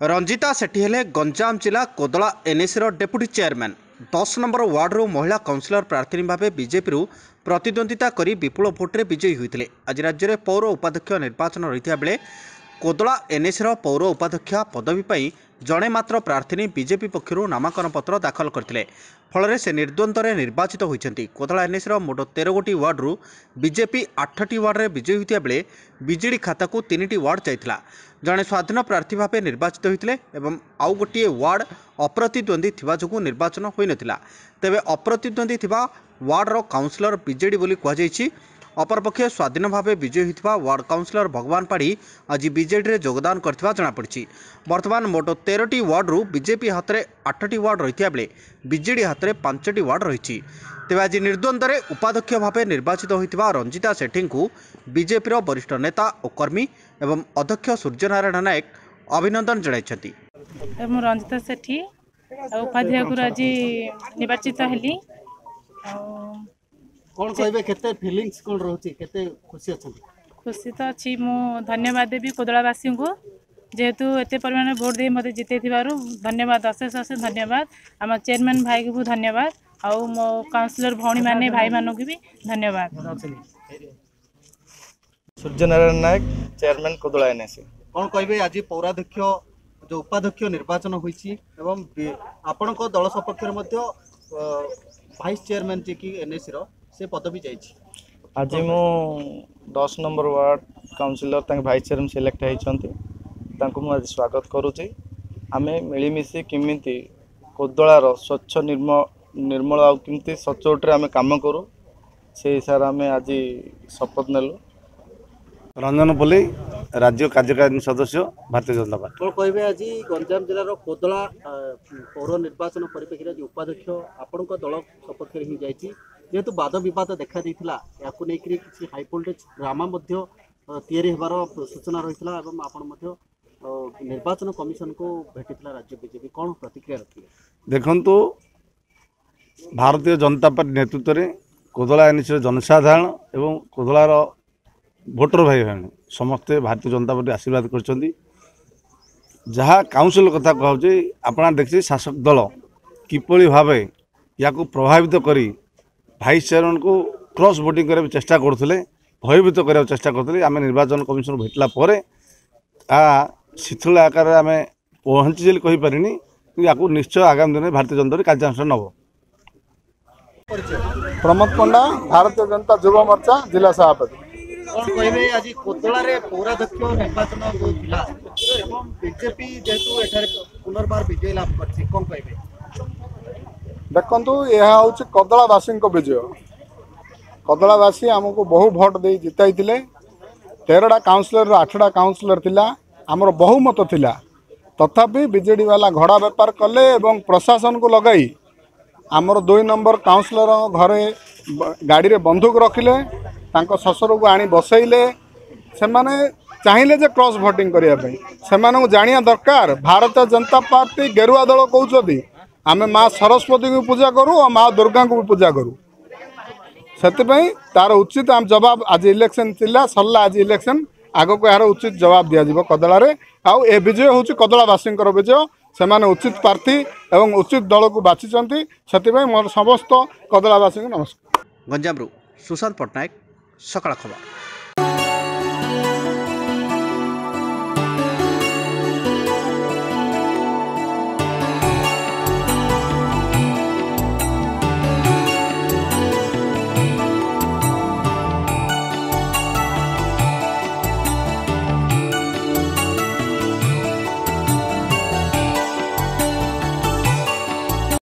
ରଞ୍ଜିତା ସେଠୀ ହେଲେ ଗଞ୍ଜାମ ଜିଲ୍ଲା Kodala ଏନ୍ଏସିର deputy chairman. 10 number ୱାର୍ଡରୁ ମହିଳା କାଉନସିଲର ପ୍ରାର୍ଥିନୀ ଭାବେ ବିଜେପିରୁ ପ୍ରତିଦ୍ୱନ୍ଦିତା କରି ବିପୁଳ ଭୋଟରେ ବିଜୟୀ ହୋଇଥିଲେ। ଆଜି ରାଜ୍ୟରେ ପୌର ଉପାଧ୍ୟକ୍ଷ ନିର୍ବାଚନ ରହିଥିବା ବେଳେ କୋଦଳା ଏନ୍ଏସିର ପୌର ଉପାଧ୍ୟକ୍ଷା ପଦବୀ ପାଇଁ ଜଣେ ମାତ୍ର ପ୍ରାର୍ଥିନୀ ବିଜେପି ପକ୍ଷରୁ ନାମାଙ୍କନ ପତ୍ର ଦାଖଲ କରିଥିଲେ। ଫଳରେ ସେ ନିର୍ଦ୍ୱନ୍ଦ୍ୱରେ ନିର୍ବାଚିତ ହୋଇଛନ୍ତି। କୋଦଳା ଏନ୍ଏସିର ମୋଟ 13 ଗୋଟି ୱାର୍ଡରୁ ବିଜେପି 8ଟି ୱାର୍ଡରେ ବିଜୟୀ ହୋଇଥିବା ବେଳେ ବିଜେଡି ଖାତାକୁ 3ଟି ୱାର୍ଡ ଯାଇଥିଲା। ଜଣେ ସ୍ୱାଧୀନ ପ୍ରାର୍ଥୀ ଭାବେ ନିର୍ବାଚିତ ହୋଇଥିଲେ ଏବଂ ଆଉ ଗୋଟିଏ ୱାର୍ଡ ଅପ୍ରତିଦ୍ୱନ୍ଦ୍ୱୀ ଥିବା ଯୋଗୁଁ ନିର୍ବାଚନ ହୋଇନଥିଲା। ତେବେ ଅପ୍ରତିଦ୍ୱନ୍ଦ୍ୱୀ ଥିବା ୱାର୍ଡର କାଉନସିଲର ବିଜେଡି ବୋଲି କୁହାଯାଇଛି। ଅପରପକ୍ଷେ ସ୍ୱାଧୀନ ଭାବେ ବିଜୟୀ ହୋଇଥିବା ୱାର୍ଡ କାଉନସିଲର ଭଗବାନ ପାଢ଼ୀ ଆଜି ବିଜେଡିରେ ଯୋଗଦାନ କରିଥିବା ଜଣାପଡ଼ିଛି। ବର୍ତ୍ତମାନ ମୋଟ 13ଟି ୱାର୍ଡରୁ ବିଜେପି ହାତରେ 8ଟି ୱାର୍ଡ ରହିଥିବା ବେଳେ ବିଜେଡି ହାତରେ 5ଟି ୱାର୍ଡ ରହିଛି। ତେବେ ଆଜି ନିର୍ଦ୍ୱନ୍ଦ୍ୱରେ ଉପାଧ୍ୟକ୍ଷ ଭାବେ ନିର୍ବାଚିତ ହୋଇଥିବା ରଞ୍ଜିତା ସେଠୀଙ୍କୁ ବିଜେପିର ବରିଷ୍ଠ ନେତା ଓ କର୍ମୀ ଏବଂ ଅଧ୍ୟକ୍ଷ ସୂର୍ଯ୍ୟନାରାୟଣ ନାୟକ ଅଭିନନ୍ଦନ ଜଣାଇଛନ୍ତି। ମୁଁ ରଞ୍ଜିତା ସେଠୀ ଆଉ ଉପାଧ୍ୟାୟକୁ ଆଜି ନିର୍ବାଚିତ ହେଲି। ଆଉ କ'ଣ କହିବେ, କେତେ ଫିଲିଙ୍ଗସ୍ କ'ଣ ରହୁଛି, କେତେ ଖୁସି ଅଛନ୍ତି? ଖୁସି ତ ଅଛି। ମୁଁ ଧନ୍ୟବାଦ ଦେବି କୋଦଳାବାସୀଙ୍କୁ, ଯେହେତୁ ଏତେ ପରିମାଣରେ ଭୋଟ ଦେଇ ମୋତେ ଜିତେଇଥିବାରୁ ଧନ୍ୟବାଦ, ଅଶେଷ ଅଶେଷ ଧନ୍ୟବାଦ। ଆମ ଚେୟାରମ୍ୟାନ୍ ଭାଇକୁ ବି ଧନ୍ୟବାଦ, ଆଉ ମୋ କାଉନସିଲର ଭଉଣୀମାନେ ଭାଇମାନଙ୍କୁ ବି ଧନ୍ୟବାଦ। Suryanarayan Nayak, chairman, Kodala NAC. କ'ଣ କହିବେ, ଆଜି ପୌରାଧ୍ୟକ୍ଷ ଯେଉଁ ଉପାଧ୍ୟକ୍ଷ ନିର୍ବାଚନ ହୋଇଛି ଏବଂ ଆପଣଙ୍କ ଦଳ ସପକ୍ଷରେ ମଧ୍ୟ ଭାଇସ୍ ଚେୟାରମ୍ୟାନ୍ ଯିଏକି ଏନ୍ଏସିର ସେ ପଦବୀ ଯାଇଛି? ଆଜି ମୁଁ 10 ନମ୍ବର ୱାର୍ଡ଼ କାଉନସିଲର, ତାଙ୍କ ଭାଇସ୍ ଚେୟାରମ୍ୟାନ୍ ସିଲେକ୍ଟ ହେଇଛନ୍ତି, ତାଙ୍କୁ ମୁଁ ଆଜି ସ୍ୱାଗତ କରୁଛି। ଆମେ ମିଳିମିଶି କେମିତି କୋଦଳାର ସ୍ୱଚ୍ଛ ନିର୍ମଳ ଆଉ କେମିତି ସଚୋଟରେ ଆମେ କାମ କରୁ, ସେଇ ହିସାବରେ ଆମେ ଆଜି ଶପଥ ନେଲୁ। ରଞ୍ଜନ ପଲେଇ, ରାଜ୍ୟ କାର୍ଯ୍ୟକାରିଣୀ ସଦସ୍ୟ, ଭାରତୀୟ ଜନତା ପାର୍ଟି। କ'ଣ କହିବେ, ଆଜି ଗଞ୍ଜାମ ଜିଲ୍ଲାର କୋଦଳା ପୌର ନିର୍ବାଚନ ପରିପ୍ରେକ୍ଷୀରେ ଆଜି ଉପାଧ୍ୟକ୍ଷ ଆପଣଙ୍କ ଦଳ ସପକ୍ଷରେ ହିଁ ଯାଇଛି। ଯେହେତୁ ବାଦ ବିବାଦ ଦେଖାଦେଇଥିଲା, ଏହାକୁ ନେଇକରି କିଛି ହାଇ ଭୋଲ୍ଟେଜ୍ ଡ୍ରାମା ମଧ୍ୟ ତିଆରି ହେବାର ସୂଚନା ରହିଥିଲା ଏବଂ ଆପଣ ମଧ୍ୟ ନିର୍ବାଚନ କମିଶନକୁ ଭେଟିଥିଲା ରାଜ୍ୟ ବିଜେପି, କ'ଣ ପ୍ରତିକ୍ରିୟା ରଖିଲେ? ଦେଖନ୍ତୁ, ଭାରତୀୟ ଜନତା ପାର୍ଟି ନେତୃତ୍ୱରେ କୋଦଳା ଏନ୍ଏସିର ଜନସାଧାରଣ ଏବଂ କୋଦଳାର ଭୋଟର ଭାଇ ଭଉଣୀ ସମସ୍ତେ ଭାରତୀୟ ଜନତା ପାର୍ଟି ଆଶୀର୍ବାଦ କରିଛନ୍ତି। ଯାହା କାଉନସିଲ କଥା କୁହାହେଉଛି, ଆପଣ ଦେଖିଛି ଶାସକ ଦଳ କିପରି ଭାବେ ୟାକୁ ପ୍ରଭାବିତ କରି ଭାଇସ୍ ଚେୟାରମ୍ୟାନ୍କୁ କ୍ରସ୍ ଭୋଟିଂ କରିବାକୁ ଚେଷ୍ଟା କରୁଥିଲେ, ଭୟଭୀତ କରିବାକୁ ଚେଷ୍ଟା କରୁଥିଲେ। ଆମେ ନିର୍ବାଚନ କମିଶନ ଭେଟିଲା ପରେ ତାହା ଶିଥିଳ ଆକାରରେ ଆମେ ପହଞ୍ଚିଛି ବୋଲି କହିପାରିନି, କିନ୍ତୁ ୟାକୁ ନିଶ୍ଚୟ ଆଗାମୀ ଦିନରେ ଭାରତୀୟ ଜନତା ପାର୍ଟି କାର୍ଯ୍ୟାନୁଷ୍ଠାନ ନେବ। ପ୍ରମୋଦ ପଣ୍ଡା, ଭାରତୀୟ ଜନତା ଯୁବ ମୋର୍ଚ୍ଚା ଜିଲ୍ଲା ସଭାପତି। କ'ଣ କହିବେ, ଆଜି କୋଦଳାରେ ପୌରାଧ୍ୟକ୍ଷ ନିର୍ବାଚନ ଯୋଉ ଥିଲା ଏବଂ ବିଜେପି ଯେହେତୁ ଏଠାରେ ପୁନର୍ବାର ବିଜୟ ଲାଭ କରିଛି, କ'ଣ କହିବେ? ଦେଖନ୍ତୁ, ଏହା ହେଉଛି କଦଳାବାସୀଙ୍କ ବିଜୟ। କଦଳାବାସୀ ଆମକୁ ବହୁ ଭୋଟ ଦେଇ ଜିତାଇଥିଲେ। 13ଟା କାଉନସିଲରରୁ 8ଟା କାଉନସିଲର ଥିଲା, ଆମର ବହୁମତ ଥିଲା। ତଥାପି ବିଜେଡ଼ି ବାଲା ଘୋଡ଼ା ବେପାର କଲେ ଏବଂ ପ୍ରଶାସନକୁ ଲଗାଇ ଆମର 2 ନମ୍ବର କାଉନସିଲର ଘରେ ଗାଡ଼ିରେ ବନ୍ଧୁକ ରଖିଲେ, ତାଙ୍କ ଶ୍ୱଶୁରକୁ ଆଣି ବସେଇଲେ। ସେମାନେ ଚାହିଁଲେ ଯେ କ୍ରସ୍ ଭୋଟିଂ କରିବା ପାଇଁ। ସେମାନଙ୍କୁ ଜାଣିବା ଦରକାର, ଭାରତୀୟ ଜନତା ପାର୍ଟି ଗେରୁଆ ଦଳ କହୁଛନ୍ତି, ଆମେ ମା ସରସ୍ୱତୀଙ୍କୁ ପୂଜା କରୁ ଆଉ ମା ଦୁର୍ଗାଙ୍କୁ ବି ପୂଜା କରୁ। ସେଥିପାଇଁ ତାର ଉଚିତ ଆମ ଜବାବ ଆଜି ଇଲେକ୍ସନ୍ ଥିଲା, ସରିଲା ଆଜି ଇଲେକ୍ସନ୍, ଆଗକୁ ଏହାର ଉଚିତ ଜବାବ ଦିଆଯିବ କଦଳାରେ। ଆଉ ଏ ବିଜୟ ହେଉଛି କଦଳାବାସୀଙ୍କର ବିଜୟ। ସେମାନେ ଉଚିତ ପ୍ରାର୍ଥୀ ଏବଂ ଉଚିତ ଦଳକୁ ବାଛିଛନ୍ତି। ସେଥିପାଇଁ ମୋର ସମସ୍ତ କଦଳାବାସୀଙ୍କୁ ନମସ୍କାର। ଗଞ୍ଜାମରୁ ସୁଶାନ୍ତ ପଟ୍ଟନାୟକ, ସକାଳ ଖବର।